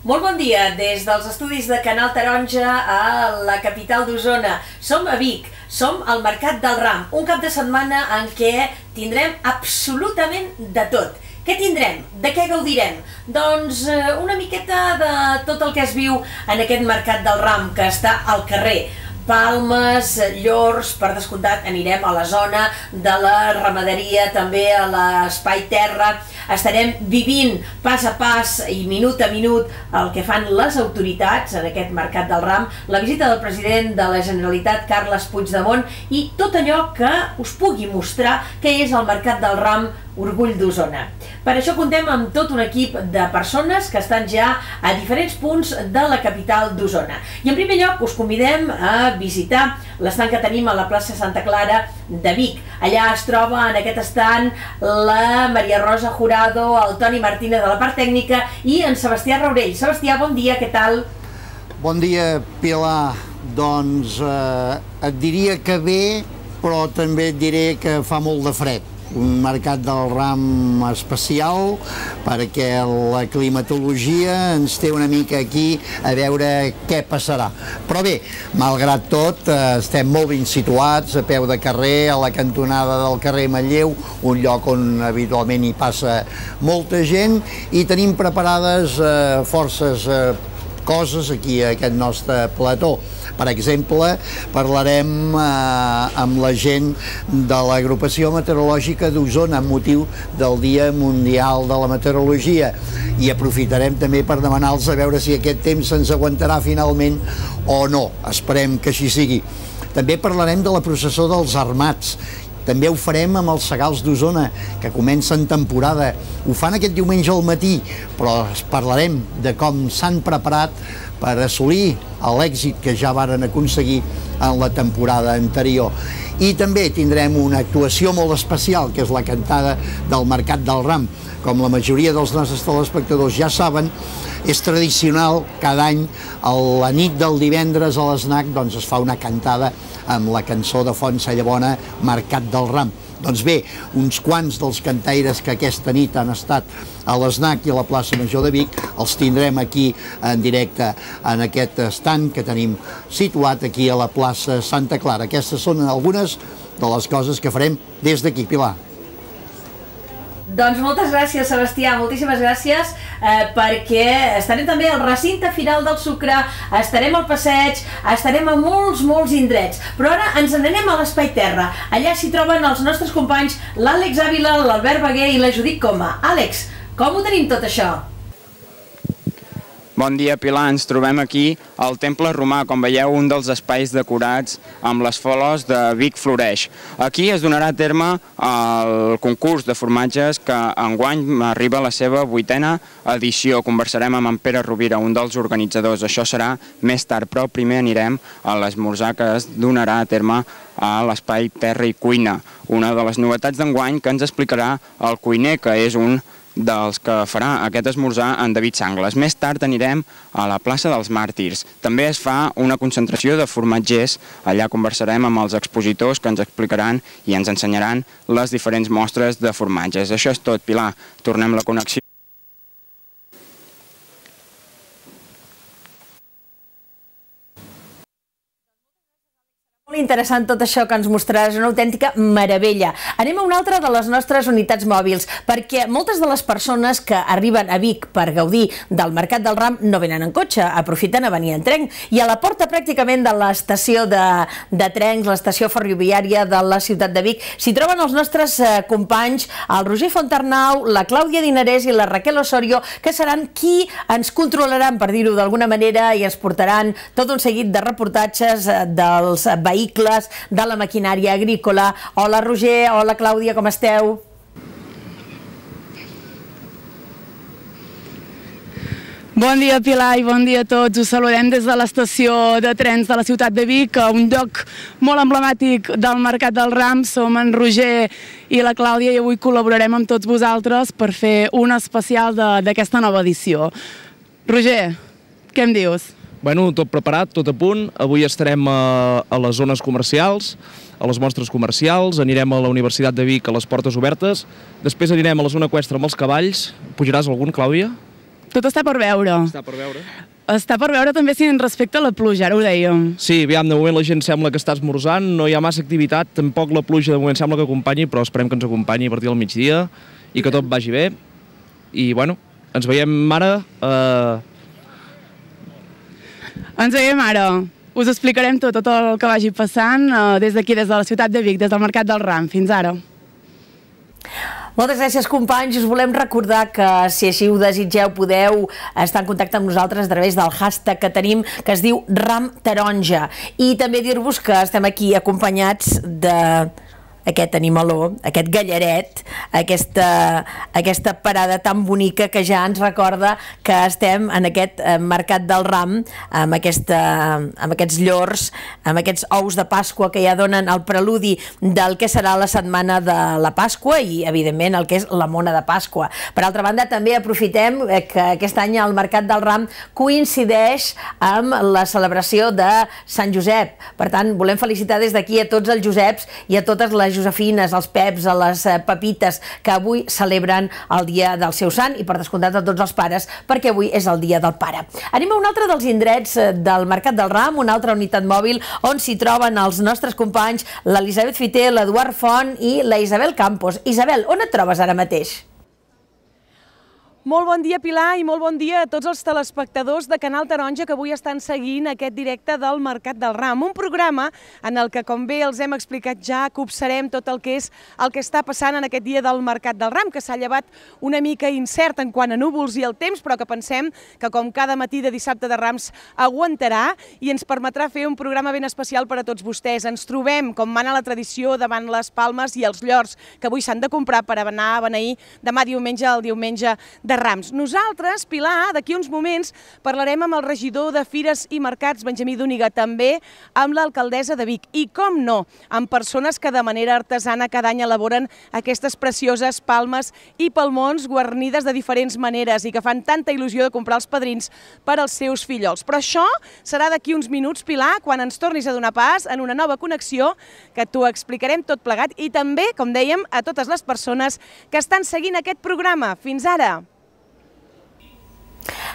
Molt bon dia des dels estudis de Canal Taronja a la capital d'Osona. Som a Vic, som al Mercat del Ram, un cap de setmana en què tindrem absolutament de tot. Què tindrem? De què gaudirem? Doncs una miqueta de tot el que es viu en aquest Mercat del Ram, que està al carrer. Palmes, llors, per descomptat anirem a la zona de la ramaderia, també a l'espai terra. Estarem vivint pas a pas i minut a minut el que fan les autoritats en aquest Mercat del Ram, la visita del president de la Generalitat, Carles Puigdemont, i tot allò que us pugui mostrar què és el Mercat del Ram, Orgull d'Osona. Per això contem amb tot un equip de persones que estan ja a diferents punts de la capital d'Osona. I en primer lloc us convidem a visitar l'estant que tenim a la plaça Santa Clara de Vic. Allà es troba en aquest estant la Maria Rosa Jurado, el Toni Martínez de la part tècnica i en Sebastià Raurell. Sebastià, bon dia, què tal? Bon dia, Pilar. Doncs et diria que bé, però també et diré que fa molt de fred. Un Mercat del Ram especial perquè la climatologia ens té una mica aquí a veure què passarà. Però bé, malgrat tot, estem molt ben situats, a peu de carrer, a la cantonada del carrer Manlleu, un lloc on habitualment hi passa molta gent, i tenim preparades forces coses aquí a aquest nostre plató. Per exemple, parlarem amb la gent de l'Agrupació Meteorològica d'Osona amb motiu del Dia Mundial de la Meteorologia, i aprofitarem també per demanar-los a veure si aquest temps ens aguantarà finalment o no. Esperem que així sigui. També parlarem de la processó dels Armats. També ho farem amb els Segals d'Osona, que comencen temporada. Ho fan aquest diumenge al matí, però parlarem de com s'han preparat per assolir l'èxit que ja varen aconseguir en la temporada anterior. I també tindrem una actuació molt especial, que és la cantada del Mercat del Ram. Com la majoria dels nostres telespectadors ja saben, és tradicional cada any, a la nit del divendres a l'ESNAC, doncs es fa una cantada amb la cançó de Font Sallabona, Mercat del Ram. Doncs bé, uns quants dels cantaires que aquesta nit han estat a l'ESNAC i a la plaça Major de Vic els tindrem aquí en directe en aquest estand que tenim situat aquí a la plaça Santa Clara. Aquestes són algunes de les coses que farem des d'aquí, Pilar. Doncs moltes gràcies, Sebastià, moltíssimes gràcies, perquè estarem també al recinte Firal del Sucre, estarem al passeig, estarem a molts indrets, però ara ens n'anem a l'Espai Terra. Allà s'hi troben els nostres companys, l'Àlex Ávila, l'Albert Baguer i la Judit Coma. Àlex, com ho tenim tot això? Bon dia, Pilar. Ens trobem aquí al Temple Romà, com veieu, un dels espais decorats amb les flors de Vic Floreix. Aquí es donarà a terme el concurs de formatges que enguany arriba a la seva 8a edició. Conversarem amb en Pere Rovira, un dels organitzadors. Això serà més tard, però primer anirem a l'esmorzar que es donarà a terme a l'Espai Terra i Cuina. Una de les novetats d'enguany que ens explicarà el cuiner, que és un dels que farà aquest esmorzar en David Sangles. Més tard anirem a la plaça dels Màrtirs. També es fa una concentració de formatgers. Allà conversarem amb els expositors que ens explicaran i ens ensenyaran les diferents mostres de formatges. Això és tot, Pilar. Tornem la connexió. Molt interessant tot això que ens mostraràs, una autèntica meravella. Anem a una altra de les nostres unitats mòbils, perquè moltes de les persones que arriben a Vic per gaudir del Mercat del Ram no venen en cotxe, aprofiten a venir en tren, i a la porta pràcticament de l'estació de trens, l'estació ferroviària de la ciutat de Vic, s'hi troben els nostres companys, el Roger Fontarnau, la Clàudia Dinarès i la Raquel Osorio, que seran qui ens controlaran, per dir-ho d'alguna manera, i ens portaran tot un seguit de reportatges dels vehicles, de la maquinària agrícola. Hola Roger, hola Clàudia, com esteu? Bon dia, Pilar, i bon dia a tots. Us saludem des de l'estació de trens de la ciutat de Vic, un lloc molt emblemàtic del Mercat del Ram. Som en Roger i la Clàudia i avui col·laborarem amb tots vosaltres per fer un especial d'aquesta nova edició. Roger, què em dius? Bueno, tot preparat, tot a punt. Avui estarem a les zones comercials, a les mostres comercials, anirem a la Universitat de Vic a les portes obertes, després anirem a la zona eqüestre amb els cavalls. Pujaràs algun, Clàudia? Tot està per veure. Està per veure. Està per veure també si respecte a la pluja, ara ho dèiem. Sí, aviam, de moment la gent sembla que està esmorzant, no hi ha massa activitat, tampoc la pluja de moment sembla que acompanyi, però esperem que ens acompanyi a partir del migdia i que tot vagi bé. I, bueno, ens veiem ara... Ens veiem ara. Us explicarem tot el que vagi passant des d'aquí, des de la ciutat de Vic, des del Mercat del Ram. Fins ara. Moltes gràcies, companys. Us volem recordar que, si així ho desitgeu, podeu estar en contacte amb nosaltres a través del hashtag que tenim, que es diu Ram Taronja. I també dir-vos que estem aquí acompanyats d'aquest animaló, aquest gallaret, aquesta parada tan bonica que ja ens recorda que estem en aquest Mercat del Ram, amb aquests llors, amb aquests ous de Pasqua que ja donen el preludi del que serà la setmana de la Pasqua i, evidentment, el que és la mona de Pasqua. Per altra banda, també aprofitem que aquest any el Mercat del Ram coincideix amb la celebració de Sant Josep. Per tant, volem felicitar des d'aquí a tots els Joseps i a totes les Josefines, als Peps, a les Pepites, que avui celebren el dia del seu sant, i per descomptat a tots els pares, perquè avui és el dia del pare. Anem a un altre dels indrets del Mercat del Ram, una altra unitat mòbil on s'hi troben els nostres companys, l'Elisabet Fiter, l'Eduard Font i la Isabel Campos. Isabel, on et trobes ara mateix? Molt bon dia, Pilar, i molt bon dia a tots els telespectadors de Canal Taronja que avui estan seguint aquest directe del Mercat del Ram. Un programa en el que, com bé els hem explicat ja, copsarem tot el que està passant en aquest dia del Mercat del Ram, que s'ha llevat una mica incert en quant a núvols i el temps, però que pensem que, com cada matí de dissabte de Rams, aguantarà i ens permetrà fer un programa ben especial per a tots vostès. Ens trobem, com mana la tradició, davant les palmes i els llors que avui s'han de comprar per anar a beneir demà diumenge, el diumenge de Rams. Nosaltres, Pilar, d'aquí uns moments parlarem amb el regidor de Fires i Mercats, Benjamí Dúniga, també amb l'alcaldessa de Vic i, com no, amb persones que de manera artesana cada any elaboren aquestes precioses palmes i palmons guarnides de diferents maneres i que fan tanta il·lusió de comprar els padrins per als seus fillols. Però això serà d'aquí uns minuts, Pilar, quan ens tornis a donar pas en una nova connexió que t'ho explicarem tot plegat i també, com dèiem, a totes les persones que estan seguint aquest programa. Fins ara!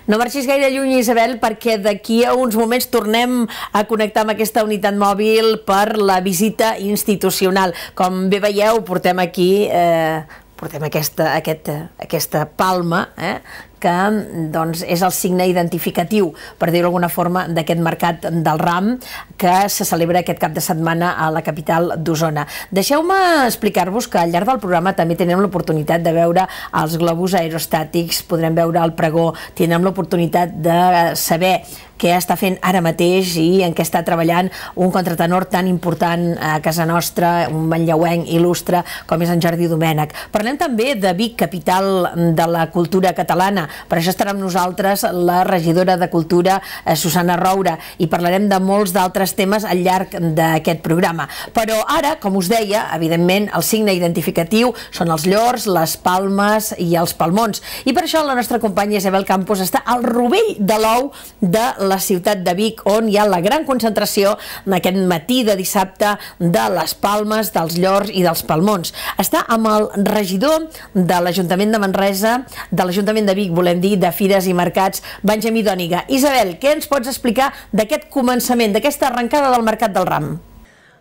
No marxis gaire lluny, Isabel, perquè d'aquí a uns moments tornem a connectar amb aquesta unitat mòbil per la visita institucional. Com bé veieu, portem aquí aquesta palma, que doncs, és el signe identificatiu, per dir-ho d'alguna forma, d'aquest Mercat del Ram que se celebra aquest cap de setmana a la capital d'Osona. Deixeu-me explicar-vos que al llarg del programa també tindrem l'oportunitat de veure els globus aerostàtics, podrem veure el pregó, tindrem l'oportunitat de saber què està fent ara mateix i en què està treballant un contratenor tan important a casa nostra, un manlleuenc il·lustre com és en Jordi Domènech. Parlem també de Vic, capital de la cultura catalana. Per això estarà amb nosaltres la regidora de Cultura, Susana Roura, i parlarem de molts d'altres temes al llarg d'aquest programa. Però ara, com us deia, evidentment el signe identificatiu són els llors, les palmes i els palmons. I per això la nostra companya Isabel Campos està al rovell de l'ou de la ciutat de Vic, on hi ha la gran concentració en aquest matí de dissabte de les palmes, dels llors i dels palmons. Està amb el regidor de l'Ajuntament de Manresa, de l'Ajuntament de Vic, volem dir, de Fires i Mercats, Benjamí Dúniga. Isabel, què ens pots explicar d'aquest començament, d'aquesta arrencada del Mercat del Ram?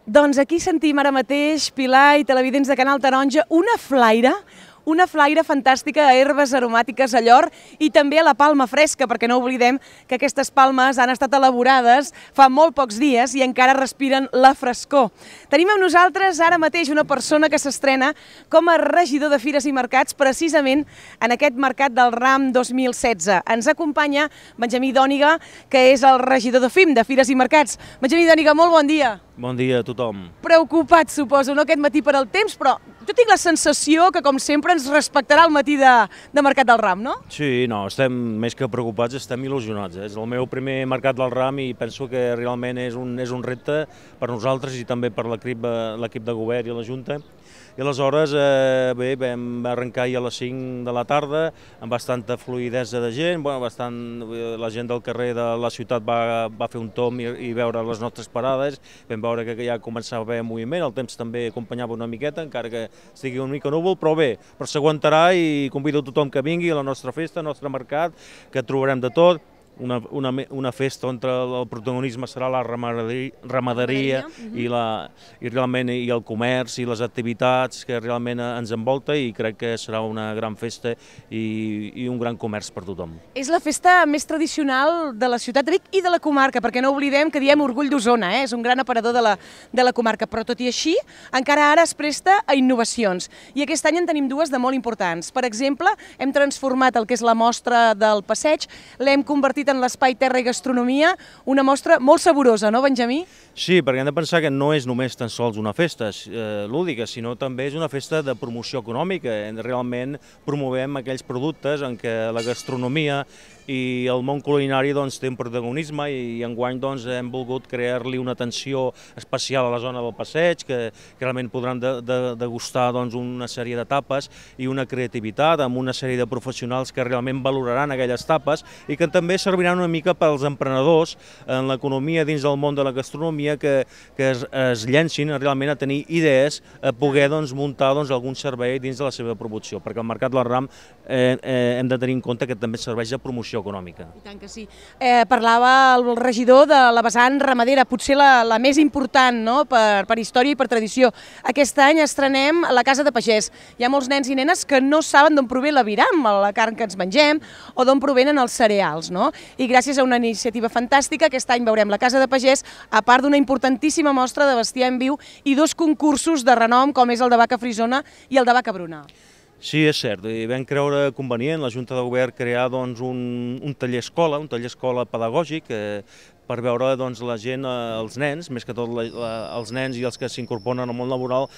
Doncs aquí sentim ara mateix, Pilar i televidents de Canal Taronja, una flaire fantàstica a herbes aromàtiques a llor i també a la palma fresca, perquè no oblidem que aquestes palmes han estat elaborades fa molt pocs dies i encara respiren la frescor. Tenim amb nosaltres ara mateix una persona que s'estrena com a regidor de Fires i Mercats precisament en aquest Mercat del Ram 2016. Ens acompanya Benjamí Dúniga, que és el regidor de FIM, de Fires i Mercats. Benjamí Dúniga, molt bon dia. Bon dia a tothom. Preocupat, suposo, no aquest matí per al temps, però jo tinc la sensació que, com sempre, ens respectarà el matí de Mercat del Ram, no? Sí, no, estem més que preocupats, estem il·lusionats. És el meu primer Mercat del Ram i penso que realment és un repte per nosaltres i també per l'equip de govern i la Junta, i aleshores bé, vam arrencar ahir a les 5 de la tarda amb bastanta fluïdesa de gent, la gent del carrer de la ciutat va fer un tomb i veure les nostres parades, vam veure que ja començava a haver moviment, el temps també acompanyava una miqueta, encara que estigui una mica núvol, però bé, però s'aguantarà i convido a tothom que vingui a la nostra festa, al nostre mercat, que trobarem de tot. Una festa on el protagonisme serà la ramaderia i realment el comerç i les activitats que realment ens envolta, i crec que serà una gran festa i un gran comerç per tothom. És la festa més tradicional de la ciutat de Vic i de la comarca, perquè no oblidem que diem Orgull d'Osona, és un gran aparador de la comarca, però tot i així encara ara es presta a innovacions, i aquest any en tenim dues de molt importants. Per exemple, hem transformat el que és la mostra del passeig, l'hem convertit en l'espai Terra i Gastronomia, una mostra molt saborosa, no, Benjamí? Sí, perquè hem de pensar que no és només tan sols una festa lúdica, sinó també és una festa de promoció econòmica. Realment promovem aquells productes en què la gastronomia i el món culinari té un protagonisme, i enguany hem volgut crear-li una atenció especial a la zona del passeig, que realment podran degustar una sèrie de tapes i una creativitat amb una sèrie de professionals que realment valoraran aquelles tapes i que també serviran una mica pels emprenedors en l'economia dins del món de la gastronomia, que es llencin realment a tenir idees, a poder muntar algun servei dins de la seva promoció, perquè el Mercat del Ram hem de tenir en compte que també serveix de promoció econòmica. I tant que sí. Parlava el regidor de la vessant ramadera, potser la més important, no?, per història i per tradició. Aquest any estrenem la Casa de Pagès. Hi ha molts nens i nenes que no saben d'on prové l'aviram, la carn que ens mengem, o d'on provenen els cereals, no? I gràcies a una iniciativa fantàstica, aquest any veurem la Casa de Pagès, a part d'una importantíssima mostra de bestiar en viu i dos concursos de renom, com és el de vaca frisona i el de vaca bruna. Sí, és cert, i vam creure convenient la Junta de Govern crear un taller escola, un taller escola pedagògic, per veure la gent, els nens, més que tot els nens i els que s'incorporen al món laboral,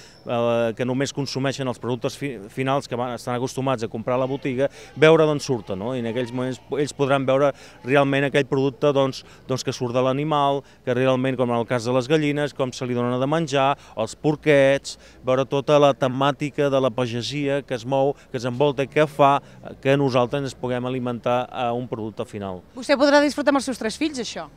que només consumeixen els productes finals que estan acostumats a comprar a la botiga, veure d'on surten, no? I en aquells moments ells podran veure realment aquell producte que surt de l'animal, que realment, com en el cas de les gallines, com se li donen de menjar, els porquets, veure tota la temàtica de la pagesia que es mou, que es envolta, que fa que nosaltres ens puguem alimentar a un producte final. Vostè podrà disfrutar amb els seus 3 fills, això?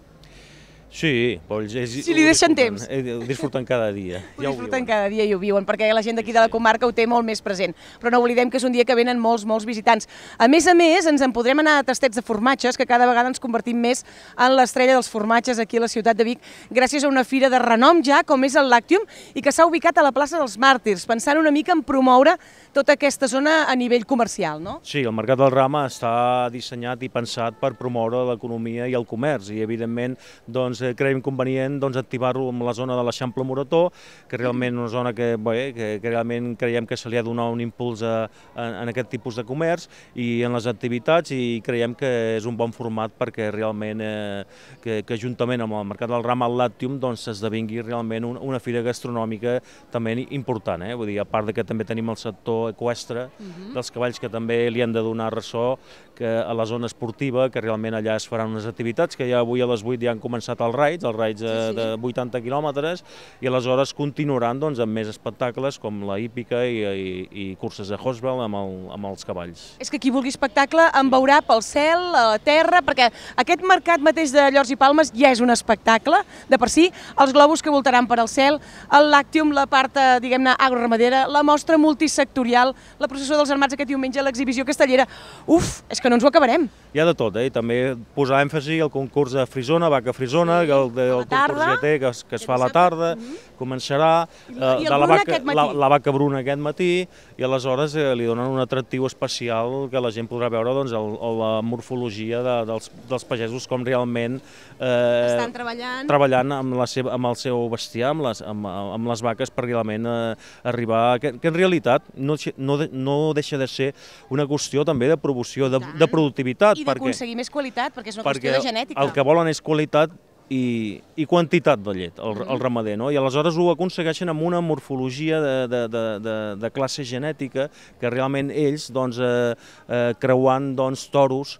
Sí, però si li deixen temps. Ho disfruten cada dia. Ho disfruten cada dia i ho viuen, perquè la gent d'aquí de la comarca ho té molt més present. Però no oblidem que és un dia que venen molts visitants. A més, ens en podrem anar a tastets de formatges, que cada vegada ens convertim més en l'estrella dels formatges aquí a la ciutat de Vic, gràcies a una fira de renom ja, com és el Làctium, i que s'ha ubicat a la plaça dels Màrtirs, pensant una mica en promoure tota aquesta zona a nivell comercial, no? Sí, el Mercat del Ram està dissenyat i pensat per promoure l'economia i el comerç, i evidentment creiem convenient activar-lo en la zona de l'Eixample Morató, que realment és una zona que realment creiem que se li ha de donar un impuls en aquest tipus de comerç i en les activitats, i creiem que és un bon format perquè realment que juntament amb el Mercat del Ram, el Làctium, s'esdevingui realment una fira gastronòmica també important. Vull dir, a part que també tenim el sector eqüestre dels cavalls, que també li han de donar ressò a la zona esportiva, que realment allà es faran unes activitats, que ja avui a les 8 ja han començat els raids de 80 quilòmetres, i aleshores continuaran amb més espectacles com la hípica i curses de Horseball amb els cavalls. És que qui vulgui espectacle en veurà pel cel, a la terra, perquè aquest mercat mateix de Llors i Palmes ja és un espectacle de per si, els globus que voltaran per al cel, el Làctium, la part, diguem-ne, agroramadera, la mostra multisectorial, la processó dels armats aquest diumenge, l'exhibició castellera. Uf, és que no ens ho acabarem. Hi ha de tot, i també posar èmfasi al concurs de frisona, vaca frisona, el concurs GT que es fa a la tarda, començarà la vaca bruna aquest matí, i aleshores li donen un atractiu especial que la gent podrà veure la morfologia dels pagesos, com realment estan treballant amb el seu bestiar, amb les vaques, per realment arribar, que en realitat no deixa de ser una qüestió també de promoció, de productivitat. I d'aconseguir més qualitat, perquè és una qüestió de genètica. El que volen és qualitat i quantitat de llet, el ramader, no? I aleshores ho aconsegueixen amb una morfologia de classe genètica que realment ells, doncs, creuant, doncs, toros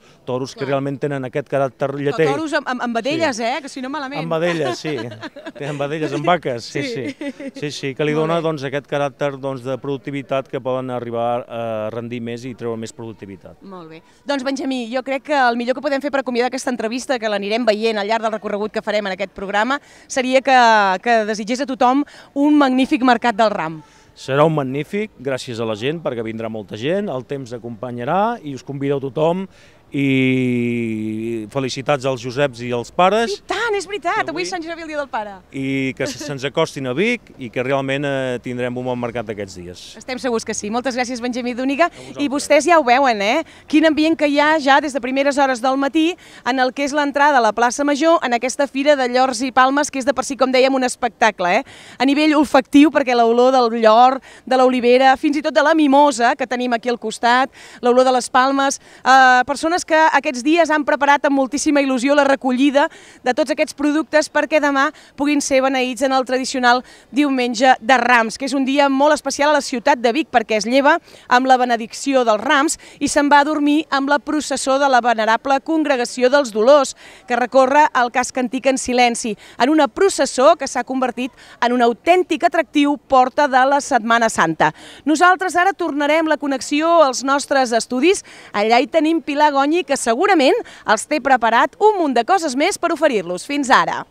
que realment tenen aquest caràcter lletell. Toros amb vedelles, que si no malament. Amb vedelles, sí. Amb vedelles, amb vaques, sí, que li dona, doncs, aquest caràcter, doncs, de productivitat que poden arribar a rendir més i treure més productivitat. Molt bé. Doncs, Benjamí, jo crec que el millor que podem fer per acomiadar aquesta entrevista, que l'anirem veient al llarg del recorregut que farem en aquest programa, seria que desitgés a tothom un magnífic mercat del ram. Serà un magnífic, gràcies a la gent, perquè vindrà molta gent, el temps acompanyarà i us convideu tothom i felicitats als Joseps i als pares. I tant, és veritat, avui és Sant Josep i el dia del pare. I que se'ns acostin a Vic i que realment tindrem un bon mercat aquests dies. Estem segurs que sí. Moltes gràcies, Benjamí Dúniga. I vostès ja ho veuen, Quin ambient que hi ha ja des de primeres hores del matí en el que és l'entrada a la plaça Major, en aquesta fira de llors i palmes, que és de per si, com dèiem, un espectacle, A nivell olfactiu, perquè l'olor del llor, de l'olivera, fins i tot de la mimosa, que tenim aquí al costat, l'olor de les palmes, persones que aquests dies han preparat amb moltíssima il·lusió la recollida de tots aquests productes perquè demà puguin ser beneïts en el tradicional diumenge de Rams, que és un dia molt especial a la ciutat de Vic perquè es lleva amb la benedicció dels Rams i se'n va a dormir amb la processó de la venerable Congregació dels Dolors, que recorre el casc antic en silenci, en una processó que s'ha convertit en un autèntic atractiu porta de la Setmana Santa. Nosaltres ara tornarem la connexió als nostres estudis. Allà hi tenim Pilar Gonyi, que segurament els té preparat un munt de coses més per oferir-los. Fins ara!